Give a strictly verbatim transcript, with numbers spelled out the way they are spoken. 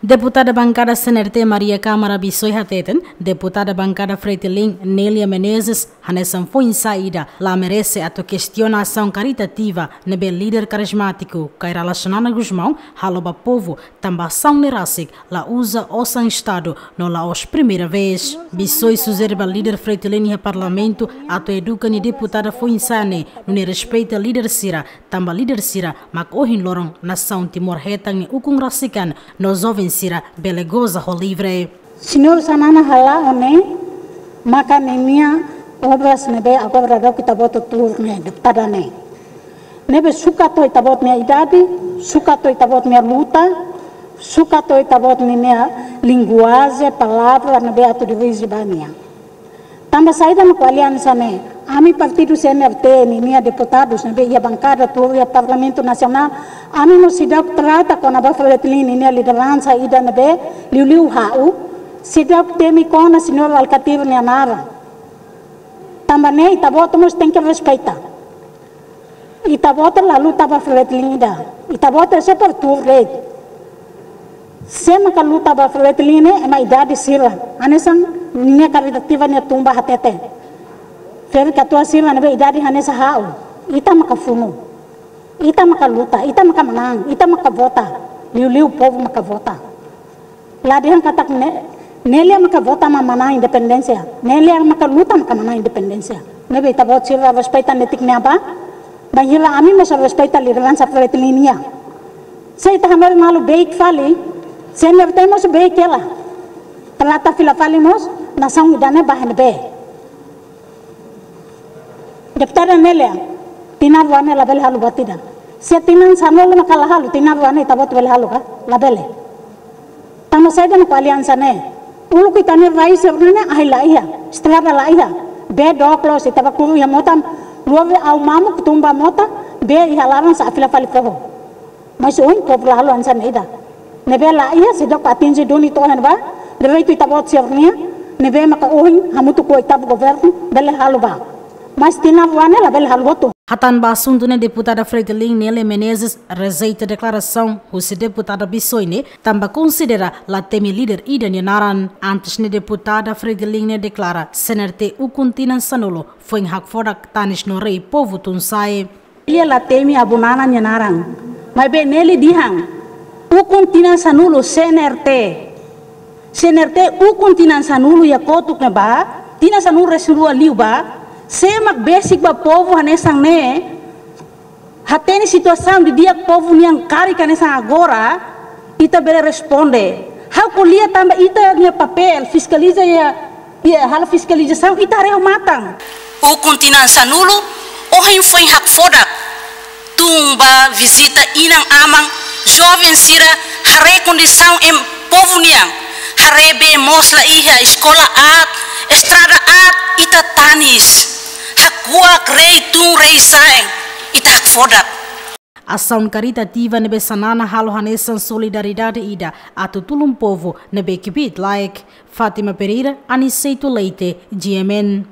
Deputada bankada C N R T Maria Câmara Bissoy hateten, deputada bankada Fretilin Nélia Menezes hanesan foin-sa'e ida la merese atu kestiona asaun karitativa ne'ebé líder karizmátiku Kay Rala Xanana Gusmão halo ba povu, tanba asaun ne'e rasik la uza osan Estadu no la'ós primeira vez. Bissoy sujere ba líder Fretilin iha Parlamentu atu eduka nia deputada foin-sa'e ne'e, nune'e respeita líder sira, tanba líder sira mak ohin loron nasaun Timor hetan nia ukun rasik an no joven sira bele goza ho livre. Señór Xanana hala'o ne'e maka ninia obras ne'ebé agora daudaun ita-boot tuur ne'e, deputada ne'e. Ne'ebé sukat ho ita-boot nia idade, sukat ho ita-boot nia luta, sukat ho ita-boot ninia linguajen, palavra ne'ebé atu dirije ba nia. Tanba saida mak ko'alia hanesan ne'e? Ami partidu C N R T ninia deputadus ne'ebé iha bankada tuur iha Parlamentu Nasionál, ami mós seidauk trata kona-ba Fretilin ninia lideransa ida ne'ebé liuliu ha'u, seidauk temi kona señór Alkatiri nia naran. Tanba ne'e ita-boot mós tenke respeita. Ita-boot la luta ba Fretilin ida. Ita-boot só para tuur de'it. Sé maka luta ba Fretilin ne'e ema idade sira. Hanesan ninia karitativa nia tun ba hatete. Ferik-katuas sira ne'ebé idade hanesan ha'u. Ita maka funu. Ita maka luta, ita maka manán, ita maka vota. Liuliu povu maka vota. La dehan katak ne'e, Nélia maka vota mak manán independénsia. Nélia maka luta maka manán independénsia. Ne'ebé ita-boot sira respeita netik ne'ebá. Bainhira ami mós respeita lideransa Fretilin nian. Se ita hanoin malu beik fali, C N R T mós beik hela. Trata fila fali mós nasaun ida-ne'e ba ne'ebé. Deputada Nélia, tinan rua ne'e labele halo buat ida. Se tinan sanulu maka la halo, tinan rua ne'e ita-boot bele halo ka? Labele. Tanba saida mak ko'alia hanesan ne'e? Uluk ita-nia rai sira-ne'e ahi la iha, estrada la iha. Bee dook loos, ita bá kuru iha mota, luar be au mamuk tun ba mota, bee iha laran sa'e fila fali foho. Mas ohin povu la halo hanesan ne'e ida. Ne'ebé la iha seidauk atinje duni to'o iha ne'ebá, direitu ita-boot sira-nian, ne'ebé maka ohin hamutuk ho ita-boot governu, bele halo ba. Mas tinan rua ne'e labele halo hotu. Hatán ba asuntu ne'e deputada Fretilin Nélia Menezes rejeita deklarasaun husi deputada Bissoy ne'e, tanba konsidera la temi líder ida nia naran. Antes ne'e deputada Fretilin ne'e deklara C N R T ukun tinan sanulu foin hakfodak tanis no rei povu tun-sa'e. Nia la temi Abu Nana nia naran. Maibé Nélia dehan, ukun tinan sanulu C N R T. C N R T ukun tinan sanulu iha kotuk ne'ebá, tinan sanulu-resin-rua liubá, sé mak besik ba povu hanesan ne'e, hatene situasaun didi'ak povu nian karik hanesan agora, ita bele responde. Ha'u ko'alia tanba ita-nia papél, fiskaliza iha, iha halo fiskalizasaun, ita haree ho matan. Ukun tinan sanulu, ohin foin hakfodak. Tun ba vizita inan-aman, joven sira haree kondisaun ema povu nian. Haree bee mós la iha, eskola aat, estrada aat, ita tanis. Hakuak rei tun rei sa'e, ita hakfodak. Asaun karitativa ne'ebé Xanana halo hanesan solidariedade ida atu tulun povu ne'ebé kbiit-laek. Fátima Pereira, Aniceto Leite, G M N.